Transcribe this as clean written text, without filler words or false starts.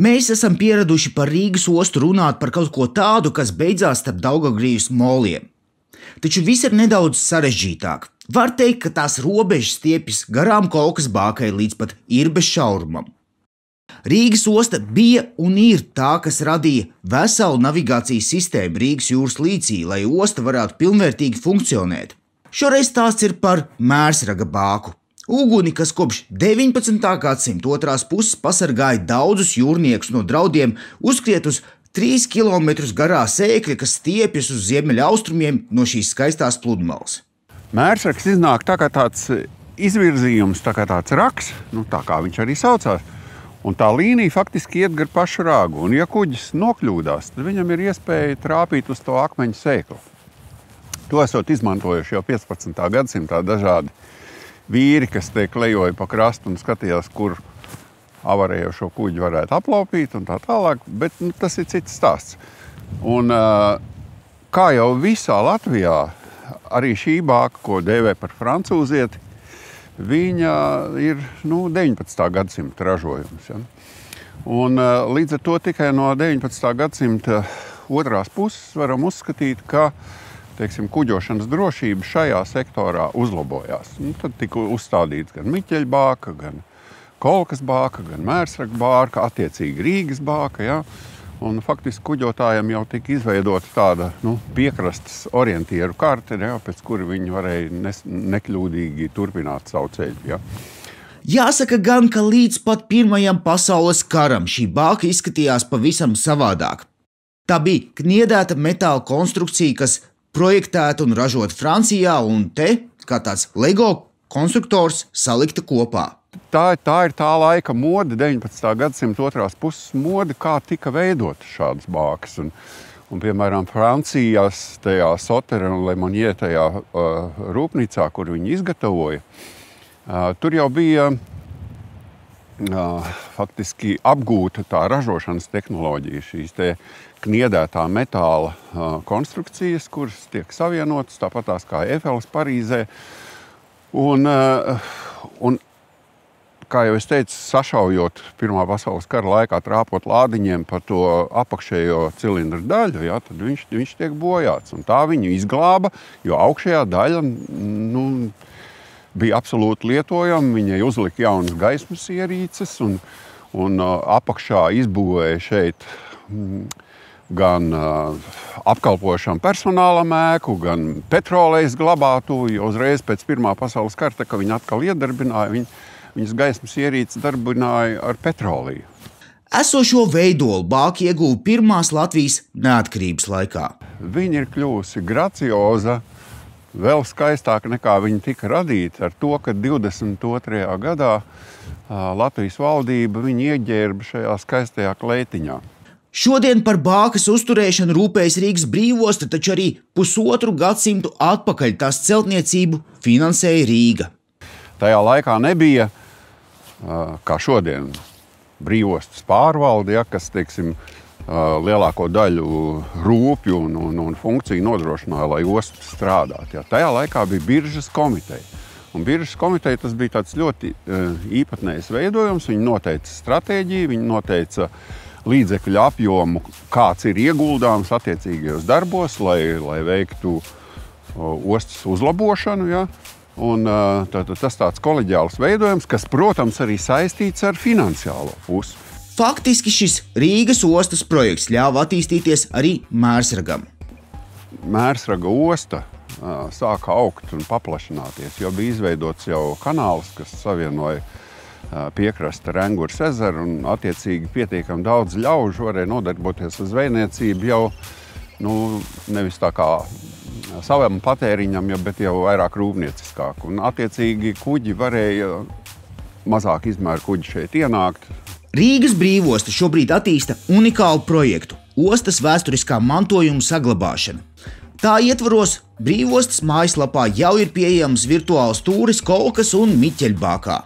Mēs esam pieraduši par Rīgas ostu runāt par kaut ko tādu, kas beidzās starp Daugavgrīvas moliem. Taču viss ir nedaudz sarežģītāk. Var teikt, ka tās robežas stiepjas garām Kolkas bākai līdz pat Irbes šaurumam. Rīgas osta bija un ir tā, kas radīja veselu navigācijas sistēmu Rīgas jūras līcī, lai osta varētu pilnvērtīgi funkcionēt. Šoreiz stāsts ir par Mērsraga bāku. Uguni, kas kopš 19. gadsimta otrās puses pasargāja daudzus jūrniekus no draudiem, uzskriet uz 3 km garā sēkļa, kas stiepjas uz ziemeļaustrumiem no šīs skaistās pludmales. Mērsrags iznāk tā kā tāds izvirzījums, tā kā tāds raks, tā kā viņš arī saucās. Un tā līnija faktiski iet gar pašu rāgu. Un ja kuģis nokļūdās, tad viņam ir iespēja trāpīt uz to akmeņu sēklu. To esot izmantojuši jau 15. gadsimtā dažādi vīri, kas te klejoja pa krastu un skatījās, kur avarējošo kuģi varētu aplaupīt un tā tālāk, bet tas ir cits stāsts. Un kā jau visā Latvijā, arī šī bāka, ko dēvē par francūzieti, viņa ir 19. gadsimta ražojums. Ja? Un līdz ar to tikai no 19. gadsimta otrās puses varam uzskatīt, ka kuģošanas drošība šajā sektorā uzlabojās. Tad tika uzstādīts gan Miķeļa bāka, gan Kolkas bāka, gan Mērsraga bāka, attiecīgi Rīgas bāka. Ja? Un faktiski kuģotājiem jau tika izveidota tāda piekrastes orientieru karte, ja? Pēc kura viņi varēja nekļūdīgi turpināt savu ceļu. Ja? Jāsaka gan, ka līdz pat Pirmajam pasaules karam šī bāka izskatījās pavisam savādāk. Tā bija kniedēta metāla konstrukcija, kas projektēta un ražota Francijā, un te, kā tāds Lego konstruktors, salikta kopā. Tā ir tā laika mode, 19. gadsimta otrās puses mode, kā tika veidota šādas bākas. Un piemēram, Francijas tajā Sotere un Le Monnier tajā rūpnīcā, kur viņi izgatavoja, tur jau bija faktiski apgūta tā ražošanas tehnoloģija, šīs te kniedētā metāla konstrukcijas, kuras tiek savienotas, tāpatās kā Eifeles Parīzē. Un kā jau es teicu, sašaujot Pirmā pasaules kara laikā, trāpot lādiņiem pa to apakšējo cilindru daļu, ja, tad viņš tiek bojāts. Un tā viņu izglāba, jo augšējā daļa bija absolūti lietojama, viņai uzlika jaunas gaismas ierīces un apakšā izbūvēja šeit gan apkalpošanu personālam ēku, gan petrolejas glabātuvi, jo uzreiz pēc Pirmā pasaules kara, kad viņi atkal iedarbināja, viņas gaismas ierīces darbināja ar petroliju. Esošo veidolu bāka ieguva pirmās Latvijas neatkarības laikā. Viņa ir kļuvusi gracioza, vēl skaistāka nekā viņa tika radīta ar to, ka 22. gadā Latvijas valdība viņu ieģērba šajā skaistajā kleitiņā. Šodien par bākas uzturēšanu rūpējas Rīgas brīvosta, taču arī pusotru gadsimtu atpakaļ tās celtniecību finansēja Rīga. Tajā laikā nebija, kā šodien, brīvostas pārvalde, ja, kas, lielāko daļu rūpju un funkciju nodrošināja, lai osta strādātu. Ja. Tajā laikā bija biržas komiteja. Un biržas komiteja tas bija tāds ļoti īpatnējs veidojums. Viņi noteica stratēģiju, viņi noteica līdzekļu apjomu, kāds ir ieguldāms attiecīgajos darbos, lai veiktu ostas uzlabošanu. Ja. Un tas tāds koleģiāls veidojums, kas, protams, arī saistīts ar finansiālo pusi. Faktiski šis Rīgas ostas projekts ļāva attīstīties arī Mērsragam. Mērsraga osta sāka augt un paplašināties, jo bija izveidots jau kanāls, kas savienoja piekrasta ar Engures ezeru, un attiecīgi pietiekami daudz ļaužu varēja nodarboties ar zvejniecību jau nevis tā kā savam patēriņam, bet jau vairāk rūpnieciskāk. Un attiecīgi kuģi varēja, mazāk izmēru kuģi šeit ienākt. Rīgas brīvosta šobrīd attīsta unikālu projektu – ostas vēsturiskā mantojuma saglabāšana. Tā ietvaros brīvostas mājaslapā jau ir pieejams virtuāls tūris Kolkas un Miķeļa bākā.